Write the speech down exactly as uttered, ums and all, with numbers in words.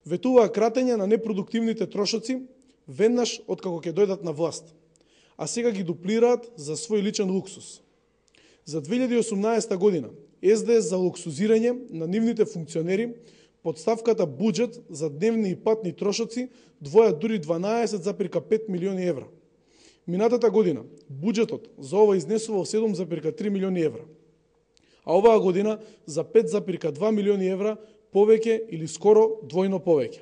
ветуваа кратење на непродуктивните трошоци веднаш откако ќе дојдат на власт, а сега ги дуплираат за свој личен луксус. За две илјади и осумнаесета година Ес Де Ес за луксузирање на нивните функционери под ставката буџет за дневни и патни трошоци двоја дури дванаесет запир пет милиони евра. Минатата година буџетот за ова изнесувал седум запир три милиони евра, а оваа година за пет запир два милиони евра повеќе или скоро двојно повеќе.